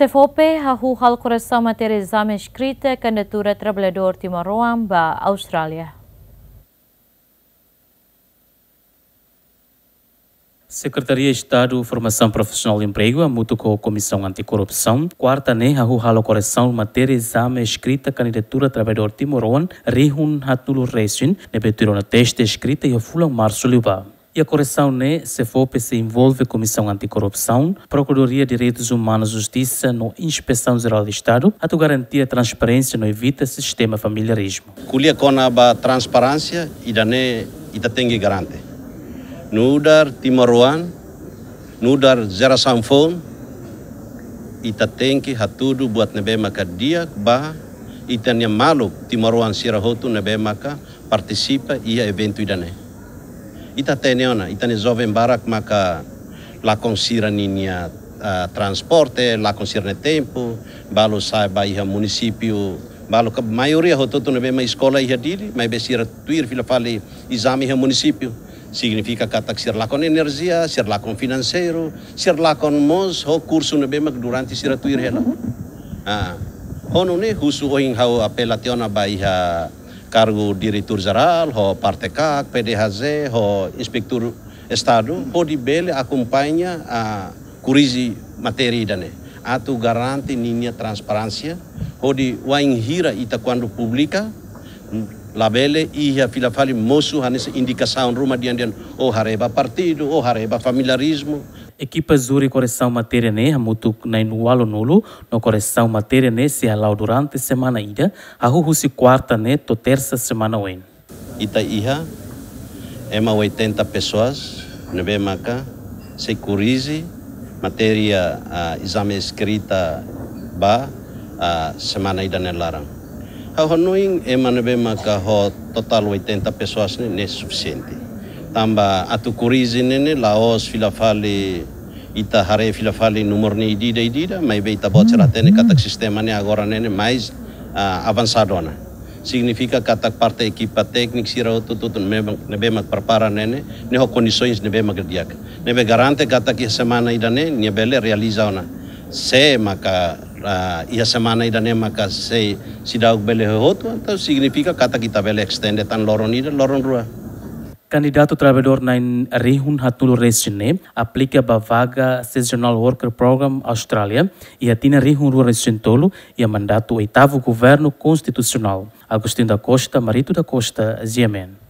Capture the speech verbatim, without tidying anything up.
SEFOPE hahú halo koresaun matéria ezame eskrita kandidatura traballadór timoroan ba Austrália. Sekretaria Estadu Formasaun Profisionál no Empregu hamutuk ho Komisaun Antikorrupsaun, kuarta ne'e hahú halo koresaun matéria ezame eskrita kandidatura traballadór timoroan rihun haatnulu resin, ne'ebé tuir ona teste eskrita iha fulan Marsu liubá. Iha koresaun ne'e, SEFOPE sei envolve Komisaun Antikorrupsaun, Prokuradoria Direitus Umanus, Justisa no Inspesaun Jerál Estadu, atu garantia transparénsia no evita sistema familiarizmu. Ko'alia kona-ba transparénsia, ida-ne'e ita tenke garante. Nu'udar timoroan, nu'udar jerasaun foun, ita tenke hatudu buat ne'ebé maka di'ak ba ita-nia maluk timoroan sira hotu ne'ebé maka partisipa iha eventu ida-ne'e. Ita hatene ona, ita-nia joven barak maka lakon sira ninia, ah, transporte, lakon sira-nia tempu, balu sa'e ba iha munisípiu, balu ka maioria hotu-hotu ne'ebé mak eskola iha Dili, maibé sira tuir fila fali ezame iha munisípiu. Signifika katak sira lakon enerjia, sira lakon finanseiru, sira lakon mós ho kursu ne'ebé mak durante sira tuir hela. Ah, ho nune'e husu ohin ha'u apela tiha ona ba iha kargu diretór jerál, ho parte kak, PDHJ, ho inspetór Estadu, hodi bele akompaña, ah, korrije matéria ida-ne'e. Atu garante ninia transparénsia, hodi wainhira ita kuandu publika, labele iha fila fali mosu hanesan indikasaun ruma dehan-dehan, ou haree ba partidu, ou haree ba familiarizmu. Ekipa júri koresaun matéria ne'e hamutuk na'in-ualunulu, no koresaun matéria ne'e sei hala'o durante semana ida, hahú husi kuarta ne'e to'o tersa semana oin. Ita iha ema oitenta pessoas ne'ebé maka sei korrije matéria, ah, ezame eskrita ba, ah, semana ida-ne'e laran. Ha'u hanoin ema ne'ebé maka ho totál oitenta pessoas ne'e, ne'e sufisiente. Tanba atu korrije ne'e, ne'e la'ós fila fali ita haree fila fali númeru ne'e ida-ida, ida-ida, maibé ita-boot sira hatene katak sistema ne'e agora ne'e, ne'e mais, ah, avansadu ona. Signifika katak parte ekipa tékniku sira hotu-hotu ne'ebé, ne'ebé mak prepara ne'e, ne'e, ne'e ho kondisoens ne'ebé mak di'ak. Ne'ebé garante katak iha semana ida-ne'e, nia bele realiza ona. Se maka, ah, iha semana ida-ne'e maka sei seidauk bele hotu, entaun signifika katak ita bele estende tan loron ida, loron rua. Kandidatu traballadór na'in rihun haatnulu resin ne'e aplika ba vaga Seasonal Worker Program Austrália iha tinan rihun rua resin tolu iha mandatu oitavu Governu Konstitusionál. Agostinho da Costa, Marito da Costa, G M N.